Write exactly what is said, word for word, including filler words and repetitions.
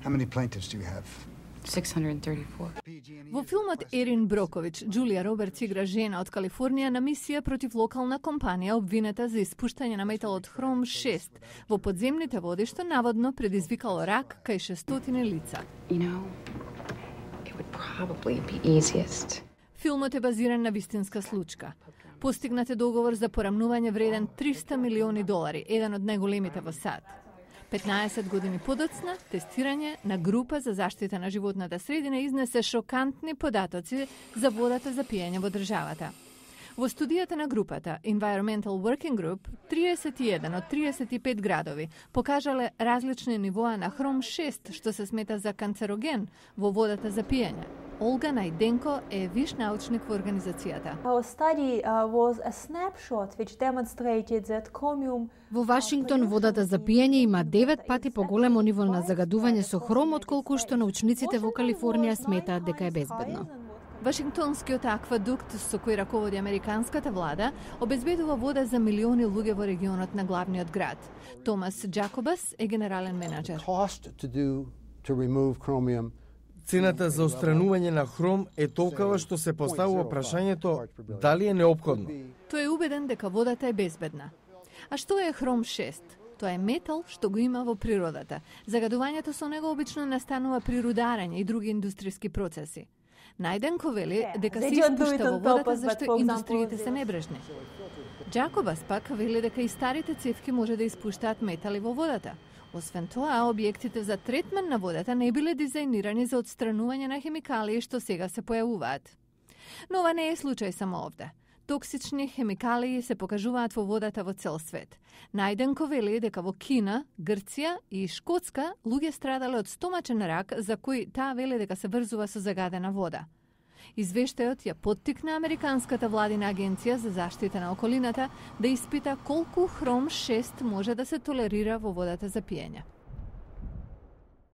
How many plaintiffs do you have? six hundred thirty-four. Во филмот Ерин Брокович, Джулија Робертс игра жена од Калифорнија на мисија против локална компанија обвинета за испуштање на металот хром шест во подземните води, што наводно предизвикало рак кај шестстотини лица. You know, it would probably be easiest. Филмот е базиран на вистинска случка. Постигнат е договор за порамнување вреден триста милиони долари, еден од најголемите во САД. петнаесет години подоцна, тестирање на група за заштита на животната средина изнесе шокантни податоци за водата за пиење во државата. Во студијата на групата Environmental Working Group, триесет и еден од триесет и пет градови покажале различни нивоа на хром шест, што се смета за канцероген во водата за пиење. Олга Најденко е виш научник во организацијата. Our study uh, was a snapshot which demonstrated that chromium. Во Вашингтон водата за пиење има девет пати поголемо ниво на загадување со хром отколку што научниците во Калифорнија сметаат дека е безбедно. Вашингтонскиот аквадукт со кој раководи американската влада обезбедува вода за милиони луѓе во регионот на главниот град. Томас Джакобас е генерален менаџер. Cost to do to remove chromium. Цената за отстранување на хром е толкова што се поставува прашањето дали е неопходно. Тој е убеден дека водата е безбедна. А што е хром шест? Тоа е метал што го има во природата. Загадувањето со него обично настанува при рударење и други индустријски процеси. Најденко вели дека се испушта во водата зашто индустриите се небрежни. Джакобас пак вели дека и старите цевки може да испуштаат метали во водата. Освен тоа, објектите за третман на водата не биле дизајнирани за отстранување на хемикалии што сега се појавуваат. Но ова не е случај само овде. Токсични хемикалии се покажуваат во водата во цел свет. Најденко вели дека во Кина, Грција и Шкотска луѓе страдале од стомачен рак за кој таа вели дека се врзува со загадена вода. Извештајот ја поттикна Американската владина агенција за заштита на околината да испита колку хром шест може да се толерира во водата за пиење.